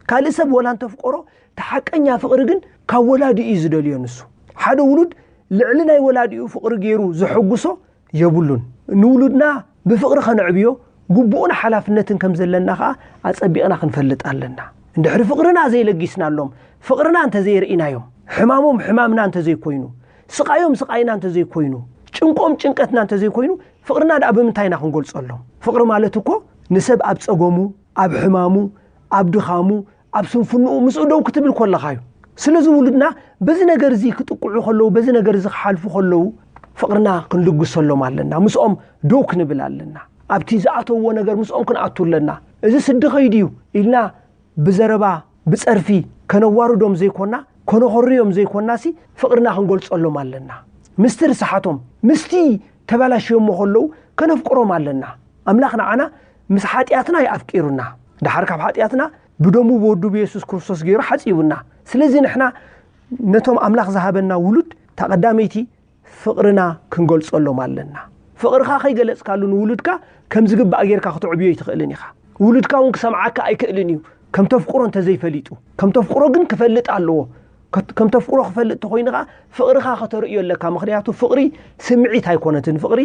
ካልእ ሰብ ወላ እንተፍቀሮ፣ እቲ ሓቀኛ ፍቕሪ ግን ካብ ወላዲኡ እዩ ዝደልዮ። ንሱ ሓደ ውሉድ ልዕሊ ናይ ወላዲኡ ፍቕሪ ገይሩ ዘሐጉሶ የብሉን። ንውሉድና ብፍቕሪ ከነዕብዮ ግቡእን ሓላፍነትን ከም ዘለና ኸኣ ኣጸቢቕና ክንፈልጥ ኣለና። እንድሕሪ ፍቕርና ዘይለጊስናሎም፣ ፍቕርና እንተዘየርኢናዮም፣ ሕማሞም ሕማምና እንተዘይኮይኑ፣ ስቓዮም ስቓይና እንተዘይኮይኑ፣ ጭንቆም ጭንቀትና እንተዘይኮይኑ፣ ፍቕርና ደኣ ብምንታይ ኢና ክንገልጸሎም? ፍቕሪ ማለት እኮ ንሰብ ኣብ ጸገሙ፣ ኣብ ሕማሙ፣ ኣብ ድኻሙ፣ ኣብ ስንፍንኡ ምስኡ ደው ክትብል ከለኻ እዩ። ስለዚ ውሉድና በዚ ነገር እዚ ክጥቅዑ ከለዉ፣ በዚ ነገር እዚ ክሓልፉ ከለዉ፣ ፍቕርና ክንልግሰሎም ኣለና። ምስኦም ደው ክንብል ኣለና። ኣብቲ ዝኣተውዎ ነገር ምስኦም ክንኣቱ ኣለና። እዚ ስዲ ከይዱ እዩ ኢልና ብዘረባ፣ ብጸርፊ ከነዋርዶም ዘይኮና፣ ከነኾርዮም ዘይኮናሲ፣ ፍቕርና ክንገልጸሎም ኣለና። ምስቲ ርስሓቶም፣ ምስቲ ተባላሽዮሞ ከለዉ ከነፍቅሮም ኣለና። ኣምላኽ ንዓና ምስ ሓጢኣትና እዩ ኣፍቂሩና። ደሓር ካብ ሓጢኣትና ብደሙ ብወዱ ብየሱስ ክርስቶስ ገይሩ ሓጺቡና። ስለዚ ንሕና ነቶም ኣምላኽ ዝሃበና ውሉድ፣ እታ ቀዳመይቲ ፍቕርና ክንገልጸሎም ኣለና። ፍቕርኻ ከይገለጽካሉ ንውሉድካ ከም ዝግባእ ጌርካ ክተዕብዮ ኣይትኽእልን ኢኻ። ውሉድካ እውን ክሰምዓካ ኣይክእልን እዩ፣ ከም ተፍቅሮ እንተዘይፈሊጡ። ከም ተፍቅሮ ግን ክፈልጥ ኣለዎ። ከት-፣ ከም ተፍቅሮ ክፈልጥ ተኾይኑ ኸኣ ፍቕርኻ ከተርእዮ ኣለካ። ምኽንያቱ ፍቕሪ ስምዒት ኣይኮነትን፣ ፍቕሪ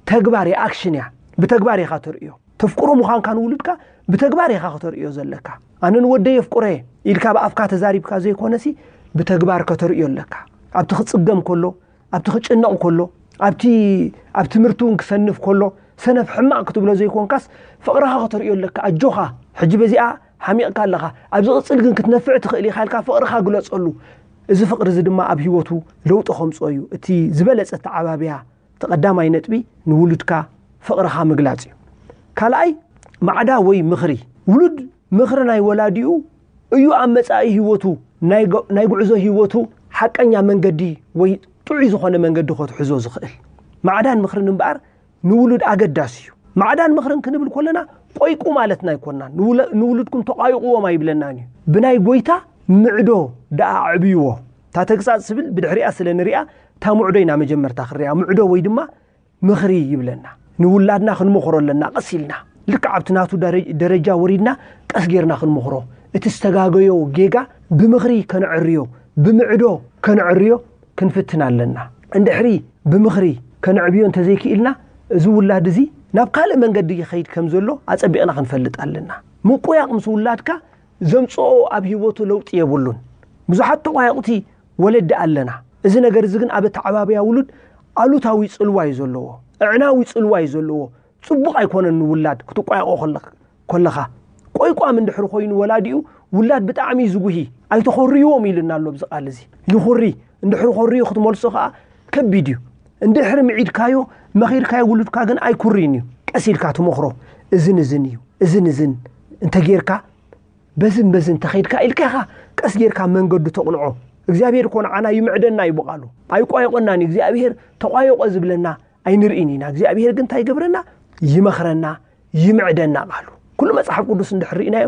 ተግባር እያ፣ ኣክሽን እያ። ብተግባር ኢኻ ተርእዮ። ተፍቅሮ ምዃንካ ንውሉድካ ብተግባር ኢኻ ከተርእዮ ዘለካ። "ኣነ ንወደይ የፍቅሮ እየ" ኢልካ ብኣፍካ ተዛሪብካ ዘይኮነሲ፣ ብተግባር ከተርእዮ ኣለካ። ኣብቲ ክጽገም ከሎ፣ ኣብቲ ክጭነቕ ከሎ፣ ኣብቲ፣ ኣብ ትምህርቲ እውን ክሰንፍ ከሎ፣ ሰነፍ ሕማቕ ክትብሎ ዘይኮንካስ፣ ፍቕርኻ ከተርእዮ ኣለካ። "ኣጆኻ፣ ሕጂ በዚኣ ሓሚቕካ ኣለኻ፣ ኣብ ዝቕጽል ግን ክትነፍዕ ትኽእል ኢኻ" ኢልካ ፍቕርኻ ግለጸሉ። እዚ ፍቕሪ እዚ ድማ ኣብ ህይወቱ ለውጢ ከምጽኦ እዩ። እቲ ዝበለጸ ኣተዓባብያ፣ እቲ ቀዳማይ ነጥቢ ንውሉድካ ፍቕርኻ ምግላጽ እዩ። ካልኣይ፣ ማዕዳ ወይ ምኽሪ። ውሉድ ምኽሪ ናይ ወላዲኡ እዩ ኣብ መጻኢ ህይወቱ፣ ናይ ጎ-፣ ናይ ጉዕዞ ህይወቱ ሓቀኛ መንገዲ ወይ ጥዑይ ዝኾነ መንገዲ ከትሕዞ ዝኽእል። ማዕዳን ምኽርን እምበኣር ንውሉድ ኣገዳሲ እዩ። ማዕዳን ምኽርን ክንብል ከለና ቆይቁ ማለትና ኣይኮናን። ንውለ-፣ ንውሉድኩም ተቋይቑዎም ኣይብለናን እዩ። ብናይ ጎይታ ምዕዶ ደኣ ኣዕብይዎ። እታ ተግሳጽ ትብል ብድሕሪኣ ስለ ንሪኣ፣ እታ ምዕዶ ኢና መጀመርታ ክንሪኣ። ምዕዶ ወይ ድማ ምኽሪ ይብለና። ንውላድና ክንመኽሮ ኣለና፣ ቀስ ኢልና። ልክዕ ኣብቲ ናቱ ደረ-፣ ደረጃ ወሪድና ቀስ ጌርና ክንመኽሮ። እቲ ዝተጋገዮ ጌጋ ብምኽሪ ከነዕርዮ፣ ብምዕዶ ከነዕርዮ ክንፍትን ኣለና። እንድሕሪ ብምኽሪ ከነዕብዮ እንተዘይክኢልና፣ እዚ ውላድ እዚ ናብ ካልእ መንገዲ ይኸይድ ከም ዘሎ ኣጸቢቕና ክንፈልጥ ኣለና። ምቁያቕ ምስ ውላድካ ዘምጽኦ ኣብ ህይወቱ ለውጢ የብሉን። ብዙሓት ተቋየቕቲ ወለዲ ኣለና። እዚ ነገር እዚ ግን ኣብ ኣተዓባብያ ውሉድ ኣሉታዊ ጽልዋ እዩ ዘለዎ፣ ኣዕናዊ ጽልዋ እዩ ዘለዎ። ጽቡቕ ኣይኮነን ንውላድ ክትቋየቖ ከለኻ። ቆይቋም እንድሕሪ ኮይኑ ወላዲኡ፣ ውላድ ብጣዕሚ እዩ ዝጉሂ። "ኣይተኾርይዎም" ኢሉና ኣሎ ኣብዚ ቃል እዚ። ይኹሪ፣ እንድሕሪ ኮርዩ ክትመልሶ ከኣ ከቢድ እዩ። እንድሕሪ ምዒድካዮ፣ መኺርካዮ ውሉድካ ግን ኣይኩርይን እዩ። ቀስ ኢልካ ትመኽሮ። "እዝን እዝን እዩ፣ እዝን እዝን እንተጌርካ፣ በዝን በዝን እንተኸይድካ" ኢልካ ኢኻ ቀስ ጌርካ መንገዱ ተቕንዖ። እግዚኣብሔር እኮ ንዓና ይምዕደና እዩ ብቓሉ። ኣይቋየቖናን እዩ። እግዚኣብሔር ተቋየቖ ዝብለና ኣይንርእን ኢና። እግዚኣብሔር ግን እንታይ ይገብረና? ይመኽረና፣ ይምዕደና ቃሉ። ኩሉ መጽሓፍ ቅዱስ እንድሕር ርኢናዮ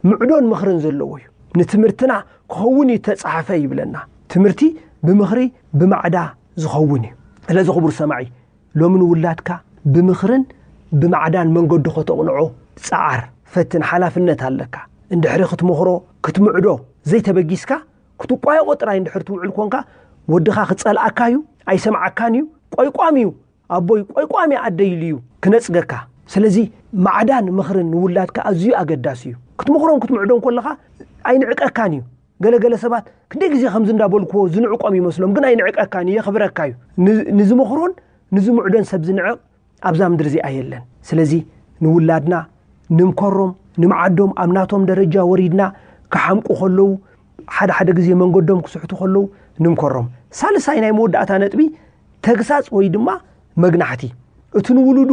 ምዕዶን ምኽርን ዘለዎ እዩ። ንትምህርትና ክኸውን እዩ ተጻሕፈ ይብለና። ትምህርቲ ብምኽሪ ብማዕዳ ዝኸውን እዩ። ስለዚ ክቡር ሰማዒ፣ ሎሚ ንውላድካ ብምኽርን ብማዕዳን መንገዱ ከተቕንዖ ጸዓር፣ ፈትን፣ ሓላፍነት ኣለካ። እንድሕሪ ክትመኽሮ፣ ክትምዕዶ ዘይተበጊስካ፣ ክትቋየቖ ጥራይ እንድሕር ትውዕል ኮንካ፣ ወድኻ ክጸልኣካ እዩ፣ ኣይሰምዓካን እዩ፣ ቆይቋም እዩ፣ ኣቦይ ቆይቋም እያ ኣደይ ኢሉ እዩ ክነጽገካ። ስለዚ ማዕዳን ምኽርን ንውላድካ ኣዝዩ ኣገዳሲ እዩ። ክትምኽሮን ክትምዕዶን ከለኻ ኣይንዕቀካን እዩ። ገለገለ ሰባት ክንደይ ግዜ ከምዚ እንዳበልክዎ ዝንዕቆም ይመስሎም፣ ግን ኣይንዕቀካን እዩ፣ የኽብረካ እዩ። ን-፣ ንዝመኽሮን ንዝምዕዶን ሰብ ዝንዕቕ ኣብዛ ምድሪ እዚኣ የለን። ስለዚ ንውላድና ንምከሮም፣ ንምዓዶም፣ ኣብ ናቶም ደረጃ ወሪድና ክሓምቁ ከለዉ፣ ሓደ ሓደ ግዜ መንገዶም ክስሕቱ ከለዉ ንምከሮም። ሳልሳይ ናይ መወዳእታ ነጥቢ፣ ተግሳጽ ወይ ድማ መግናሕቲ። እቲ ንውሉዱ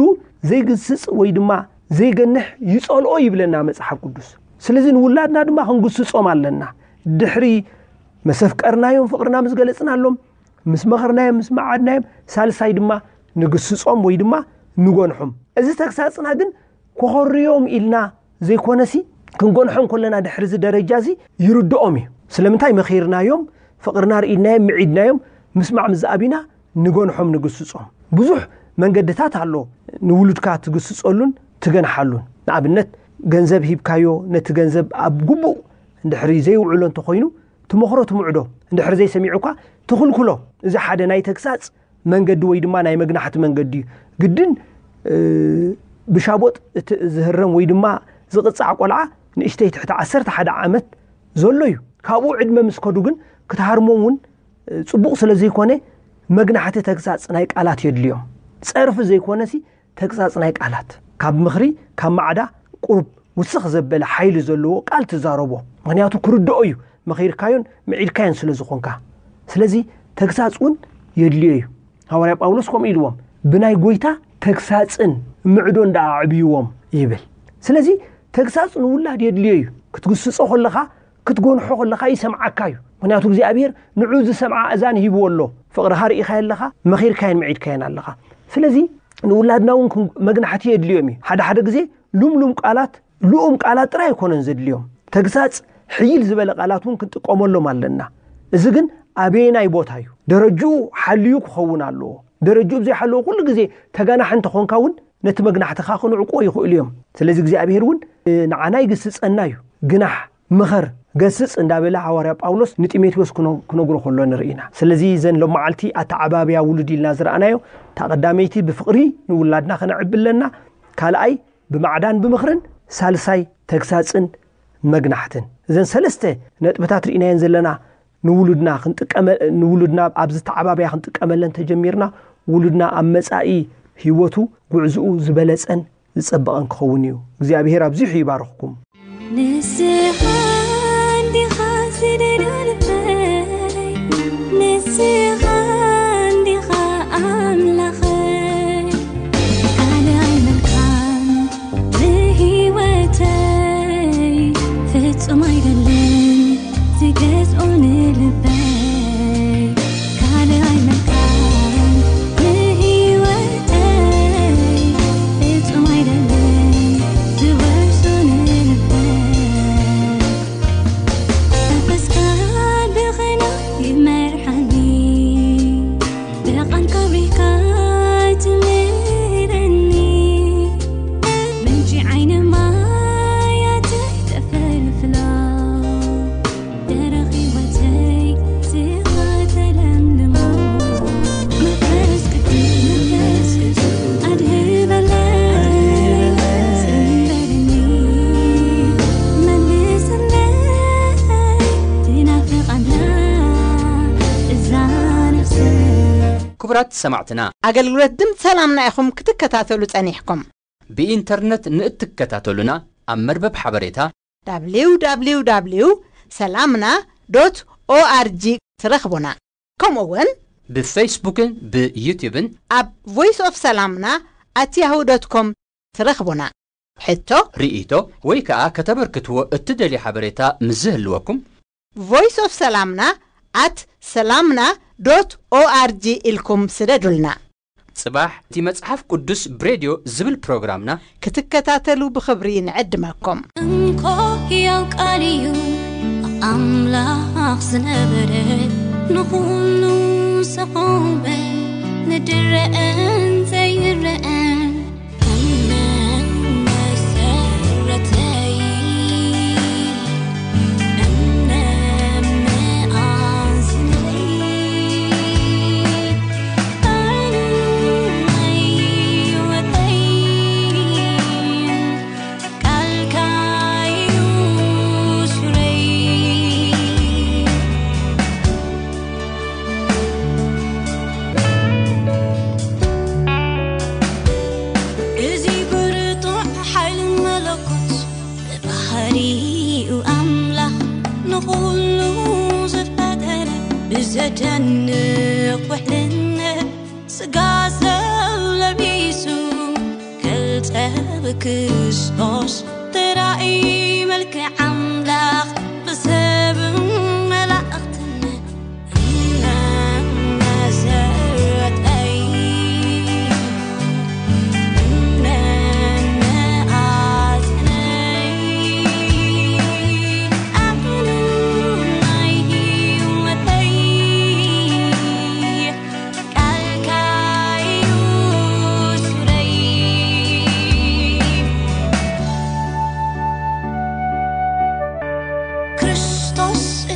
ዘይግስጽ ወይ ድማ ዘይገንሕ ይጸልኦ ይብለና መጽሓፍ ቅዱስ። ስለዚ ንውላድና ድማ ክንግስጾም ኣለና። ድሕሪ መሰፍቀርናዮም፣ ፍቕርና ምስ ገለጽናሎም፣ ምስ መኸርናዮም፣ ምስ መዓድናዮም፣ ሳልሳይ ድማ ንግስጾም ወይ ድማ ንጎንሖም። እዚ ተግሳጽና ግን ኮኾርዮም ኢልና ዘይኮነሲ፣ ክንጎንሖም ከለና ድሕሪ እዚ ደረጃ እዚ ይርድኦም እዩ። ስለምንታይ መኺርናዮም፣ ፍቕርና ርኢድናዮም፣ ምዒድናዮም፣ ምስማዕ ምስ ዝኣቢና ንጎንሖም ንግስጾም። ብዙሕ መንገድታት ኣሎ ንውሉድካ ትግስጸሉን ትገንሓሉን። ንኣብነት፣ ገንዘብ ሂብካዮ፣ ነቲ ገንዘብ ኣብ ግቡእ እንድሕሪ ዘይውዕሎ እንተኾይኑ፣ ትመኽሮ ትምዕዶ፣ እንድሕሪ ዘይሰሚዑካ ትኽልክሎ። እዚ ሓደ ናይ ተግሳጽ መንገዲ ወይ ድማ ናይ መግናሕቲ መንገዲ እዩ። ግድን፣ እ፣ ብሻቦጥ እቲ ዝህረም ወይ ድማ ዝቕጻዕ ቆልዓ ንእሽተይ ትሕቲ ዓሰርተ ሓደ ዓመት ዘሎ እዩ። ካብኡ ዕድመ ምስ ከዱ ግን ክትሃርሞም እውን፣ እ፣ ጽቡቕ ስለ ዘይኮነ መግናሕቲ ተግሳጽ ናይ ቃላት የድልዮም። ጸርፊ ዘይኮነሲ ተግሳጽ ናይ ቃላት። ካብ ምኽሪ፣ ካብ ማዕዳ ቁሩብ ውስኽ ዘበለ ሓይሊ ዘለዎ ቃል ትዛረቦ። ምኽንያቱ ክርድኦ እዩ፣ መኺርካዮን ምዒድካዮን ስለ ዝኾንካ። ስለዚ ተግሳጽ እውን የድልዮ እዩ። ሃዋርያ ጳውሎስ ከምኡ ኢልዎም፣ "ብናይ ጎይታ ተግሳጽን ምዕዶን ደኣ ኣዕብይዎም" ይብል። ስለዚ ተግሳጽ ንውላድ የድልዮ እዩ። ክትግስጾ ከለኻ፣ ክትጎንሖ ከለኻ ይሰምዓካ እዩ። ምኽንያቱ እግዚኣብሔር ንዑ ዝሰምዓ እዛን ሂብዎ ኣሎ። ፍቕርኻ ርኢኻዮ ኣለኻ፣ መኺርካዮን ምዒድካዮን ኣለኻ። ስለዚ ንውላድና እውን ክን-፣ መግናሕቲ የድልዮም እዩ። ሓደ ሓደ ግዜ ልምሉም ቃላት፣ ልኡም ቃላት ጥራይ ኣይኮነን ዘድልዮም። ተግሳጽ ሕይል ዝበለ ቃላት እውን ክንጥቀመሎም ኣለና። እዚ ግን ኣበየናይ ቦታ እዩ? ደረጅኡ ሓልዩ ክኸውን ኣለዎ። ደረጅኡ ብዘይሓለወ ኩሉ ግዜ ተጋናሒ እንተኾንካ እውን ነቲ መግናሕትኻ ክንዕቅዎ ይኽእሉ እዮም። ስለዚ እግዚኣብሔር እውን ንዓና ይግስጸና እዩ። ግናሕ፣ ምኸር፣ ገስጽ እንዳበለ ሃዋርያ ጳውሎስ ንጢሞቴዎስ ክነ-፣ ክነግሮ ከሎ ንርኢ ኢና። ስለዚ እዘን ሎም መዓልቲ ኣተዓባብያ ውሉድ ኢልና ዝረኣናዮ፣ እታ ቀዳመይቲ ብፍቕሪ ንውላድና ከነዕቢ ኣለና። ካልኣይ ብማዕዳን ብምኽርን፣ ሳልሳይ ተግሳጽን መግናሕትን። እዘን ሰለስተ ነጥብታት ርኢናየን ዘለና ንውሉድና ክንጥቀመ-፣ ንውሉድና ኣብዚ ተዓባብያ ክንጥቀመለን ተጀሚርና፣ ውሉድና ኣብ መጻኢ ህይወቱ ጉዕዝኡ ዝበለጸን ዝጸበቐን ክኸውን እዩ። እግዚኣብሔር ኣብዚሑ ይባርኽኩም። ንስኻ እንዲኻ ዝደልዮ ልበይ፣ ንስኻ እንዲኻ ኣምላኸይ። ካልእ ኣይመልካን ንህይወተይ፣ ፍጹም ኣይደልን ዝገዝኦ ንልበይ። ካልእ ኣይመልካን ንህይወተይ፣ ፍጹም ኣይደልን ዝወርሶ ንልበይ። መንፈስካ ብኸና ይመርሓኒ፣ ብቓልካ ብሪካ ትምህረኒ። ምንጪ ዓይኒ ማያተይ ተፈልፍላ፣ ደረቕ ህይወተይ ስኻ ተለምልሞ። መንፈስ ቅዱስ፣ መንፈስ ቅዱስ ኣድህበለይ፣ ኣድህበለይ፣ ጽንበለኒ፣ መልሰለይ፣ ትናፍቕ ኣላ እዛ ነፍሰይ። ክቡራት ሰማዕትና፣ ኣገልግሎት ድምፂ ሰላምና ኢኹም ክትከታተሉ ጸኒሕኩም። ብኢንተርነት ንእትከታተሉና፣ ኣብ መርበብ ሓበሬታ www ሰላምና ዶት ኦኣርጂ ትረኽቡና። ከምኡ እውን ብፌስቡክን ብዩቲዩብን ኣብ ቮይስ ኦፍ ሰላምና ኣት ያሁ ዶት ኮም ትረኽቡና። ሕቶ፣ ርኢቶ ወይ ከኣ ከተበርክትዎ እትደልዩ ሓበሬታ ምስ ዝህልወኩም፣ ቮይስ ኦፍ ሰላምና ኣት ሰላምና ዶት ኦኣርጂ ኢልኩም ስደዱልና። ጽባሕ እቲ መጽሓፍ ቅዱስ ብሬድዮ ዝብል ፕሮግራምና ክትከታተሉ ብኽብሪ ንዕድመኩም። እንኮ ሕያው ቃል እዩ ኣምላኽ ዝነበረ፣ ንኹሉ ዝቖመ፣ ንድረአን ዘይረአን እምነ መሰረተይ፣ እምነ መኣዝነይ፣ ቃል ናይ ህይወተይ፣ ቃልካ እዩ ሱረይ። እዚ ብርቱዕ ሓይሊ መለኮት፣ ብባህሪኡ ኣምላኽ ንኹሉ ዝፈጠረ፣ ብዘደንቕ ውሕልነት ስጋ ሰብ ለቢሱ፣ ገልጸ ብክርስቶስ ተራእዩ፣ መልክዕ ኣምላኽ ብሰብ መላእኽትን እምነ መሰረተይ፣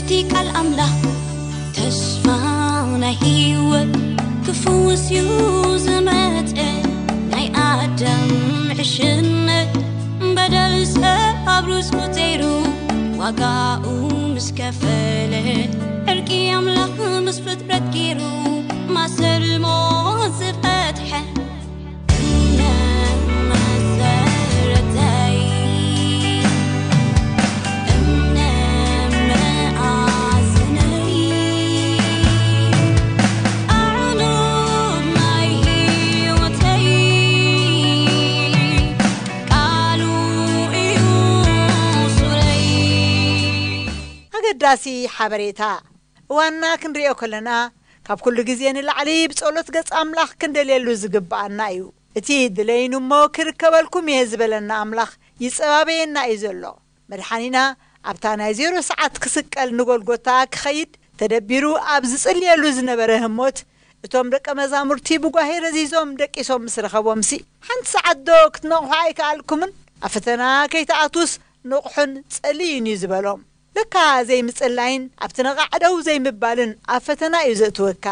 እቲ ቃል ኣምላኽ ተስፋ ናይ ህይወት ክፍውስ እዩ ዝመጸ። ናይ ኣዳም ዕሽነት በደል ሰብ ኣብ ርእሱ ገይሩ ዋጋኡ ምስ ከፈለ፣ ዕርቂ ኣምላኽ ምስ ፍጥረት ገይሩ ማሰር ሞት ዝፈትሐ። እምነ መሰረተይ፣ እምነ መኣዝነይ፣ ኣዕኑድ ናይ ህይወተይ፣ ቃሉ እዩ ሱረይ። ኣገዳሲ ሓበሬታ። እዋንና ክንሪኦ ከለና፣ ካብ ኩሉ ግዜ ንላዕሊ ብጸሎት ገጽ ኣምላኽ ክንደልየሉ ዝግብኣና እዩ። እቲ "ድለዩኒ እሞ ክርከበልኩም እየ" ዝበለና ኣምላኽ ይጸባበየና እዩ ዘሎ። መድሓኒና ኣብታ ናይ ዜሮ ሰዓት ክስቀል ንጎልጎታ ክኸይድ ተደቢሩ ኣብ ዝጽልየሉ ዝነበረ ህሞት፣ እቶም ደቀ መዛሙርቲ ብጓሄ ረዚዞም ደቂሶም ምስ ረኸቦምሲ፣ "ሓንቲ ሰዓት ዶ ክትነቕሑ ኣይከኣልኩምን? ኣብ ፈተና ከይትኣትዉስ ንቕሑን ጸልዩን" እዩ ዝበሎም። ለካ ዘይምጽላይን ኣብቲ ነቓዕ ደው ዘይምባልን ኣብ ፈተና እዩ ዘእትወካ።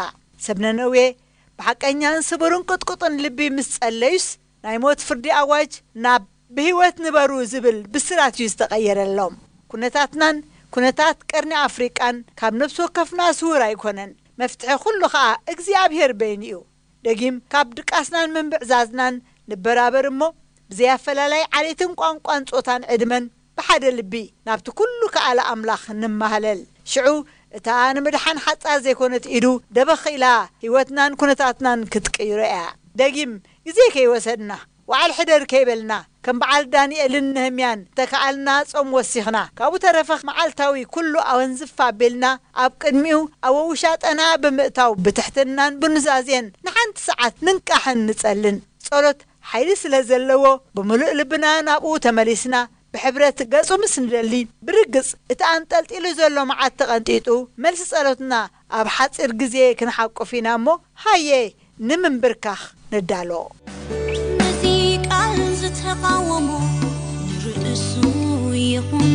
ሰብ ነነዌ ብሓቀኛን ስቡርን ቅጥቁጥን ልቢ ምስ ጸለዩስ፣ ናይ ሞት ፍርዲ ኣዋጅ ናብ "ብህይወት ንበሩ" ዝብል ብስራት እዩ ዝተቐየረሎም። ኩነታትናን ኩነታት ቀርኒ ኣፍሪቃን ካብ ነፍሲ ወከፍና ስዉር ኣይኮነን። መፍትሒ ኩሉ ኸኣ እግዚኣብሔር በይኑ እዩ። ደጊም ካብ ድቃስናን ምንብዕዛዝናን ንበራበር እሞ፣ ብዘይ ኣፈላላይ ዓሌትን ቋንቋን ጾታን ዕድመን ብሓደ ልቢ ናብቲ ኩሉ ከኣለ ኣምላኽ ንማህለል። ሽዑ እታ ንምድሓን ሓጻር ዘይኮነት ኢዱ ደበኽ ኢላ ህይወትናን ኩነታትናን ክትቅይሮ እያ። ደጊም ግዜ ከይወሰድና፣ ዋዕል ሕደር ከይበልና፣ ከም በዓል ዳንኤልን ነህምያን ተከኣልና ጾም ወሲኽና፣ ካብኡ ተረፈ መዓልታዊ ኩሉ ኣወንዝፍ ኣቢልና ኣብ ቅድሚኡ ኣብ ውሻጠና ብምእታው ብትሕትናን ብኑዛዜን ንሓንቲ ሰዓት ንንቃሕን ንጸልን። ጸሎት ሓይሊ ስለ ዘለዎ ብምሉእ ልብና ናብኡ ተመሊስና ብሕብረት ገጹ ምስ ንደሊ፣ ብርግጽ እቲ ኣንጠልጢሉ ዘሎ መዓት ተቐንጢጡ፣ መልሲ ጸሎትና ኣብ ሓጺር ግዜ ክንሓቁፍ ኢና እሞ፣ ሃየ ንምንብርካኽ ንዳሎ። ነዚ ቃል ዝተቓወሞ ንርእሱ ይኹን